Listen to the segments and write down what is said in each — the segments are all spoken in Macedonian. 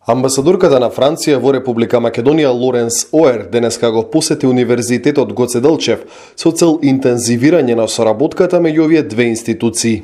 Амбасадорката на Франција во Република Македонија Лоренс Оер денеска го посети Универзитетот Гоце Делчев со цел интензивирање на соработката меѓу овие две институции.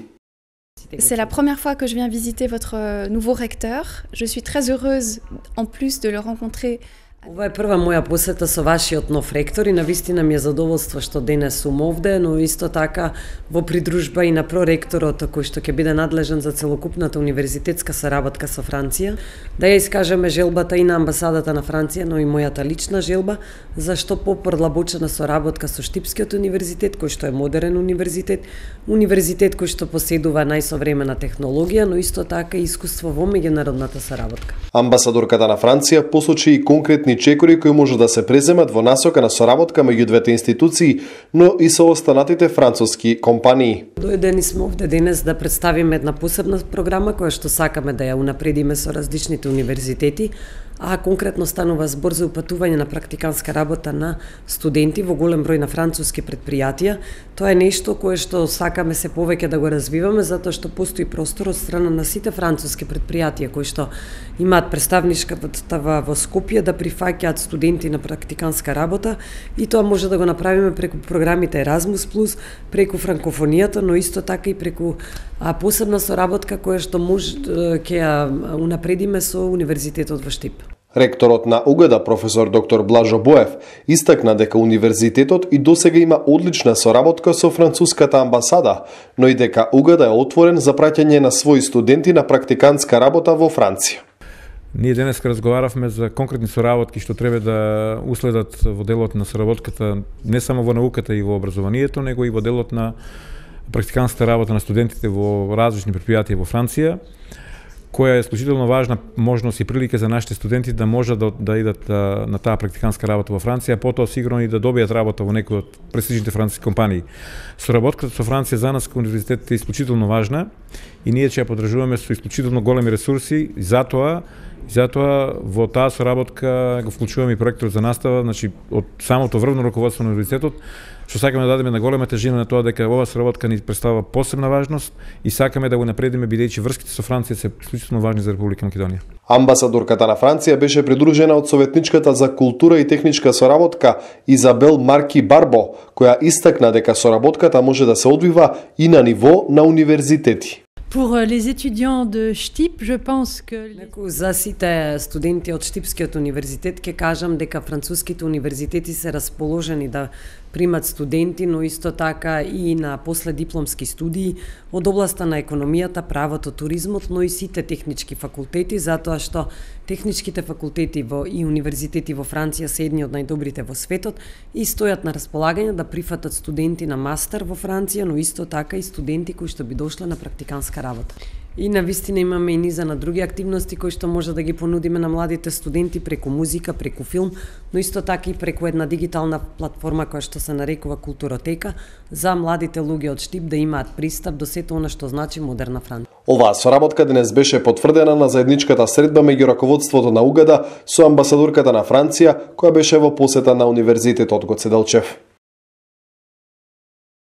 C'est la première fois que je viens visiter votre nouveau recteur. Je suis très heureuse en plus de le rencontrer. Ова е прва моја посета со вашиот нов ректор и навистина ми е задоволство што денес сум овде, но исто така во придружба и на проректорот кој што ќе биде надлежен за целокупната универзитетска соработка со Франција, да ја искажеме желбата и на амбасадата на Франција, но и мојата лична желба за што попродлабочена соработка со Штипскиот универзитет, кој што е модерен универзитет, универзитет кој што поседува најсовремена технологија, но исто така и искуство во меѓународната соработка. Амбасадорката на Франција посочи и конкретни чекори кои може да се преземат во насока на соработка меѓу двете институции, но и со останатите француски компании. Дојдени сме овде денес да представиме една посебна програма која што сакаме да ја унапредиме со различните универзитети, а конкретно станува збор за упатување на практиканска работа на студенти во голем број на француски предпријатија. Тоа е нешто кое што сакаме се повеќе да го развиваме, затоа што постои простор од страна на сите француски предпријатија кои што имаат представнишката во Скопје да прифаќаат студенти на практиканска работа, и тоа може да го направиме преку програмите Erasmus+, преку франкофонијата, но исто така и преку посебна соработка која што може ќе ја унапредиме со Универзитетот во Штип. Ректорот на УГД, професор доктор Блажо Боев, истакна дека универзитетот и досега има одлична соработка со француската амбасада, но и дека УГД е отворен за праќање на своји студенти на практикантска работа во Франција. Ние денес разговаравме за конкретни соработки што треба да уследат во делот на соработката не само во науката и во образованието, него и во делот на практиканската работа на студентите во различни предпријатија во Франција, која е исклучително важна можност и прилика за нашите студенти да можат да идат на таа практиканска работа во Франција, потоа сигурно и да добијат работа во некој од престижните француски компании. Соработката со Франција за нас како универзитет е исклучително важна и ние ќе ја поддржуваме со исклучително големи ресурси, и затоа во таа соработка го вклучуваме и проектор за настава, значи од самото врвно раководство на универзитетот, што сакаме да дадеме на голема тежина на тоа дека оваа соработка ни представува посебна важност и сакаме да го напредиме бидејќи врските со Франција се исклучително важни за Република Македонија. Амбасадорката на Франција беше придружена од советничката за култура и техничка соработка Изабел Марки Барбо, која истакна дека соработката може да се одвива и на ниво на универзитети. Pour les étudiants de Štip, je pense que за сите студенти од Штипскиот универзитет ќе кажам дека француските универзитети се расположени да примат студенти, но исто така и на последипломски студии од областа на економијата, правото, туризмот, но и сите технички факултети, затоа што техничките факултети и универзитети во Франција се едни од најдобрите во светот и стојат на располагање да прифатат студенти на мастер во Франција, но исто така и студенти кои што би дошле на практиканска работа. И навистина имаме и низа на други активности кои што може да ги понудиме на младите студенти преку музика, преку филм, но исто така и преку една дигитална платформа која што се нарекува Културотека за младите луѓе од Штип да имаат пристап до сето она што значи модерна Франција. Оваа соработка денес беше потврдена на заедничката средба меѓу раководството на УГД со амбасадорката на Франција која беше во посета на Универзитетот Гоце Делчев.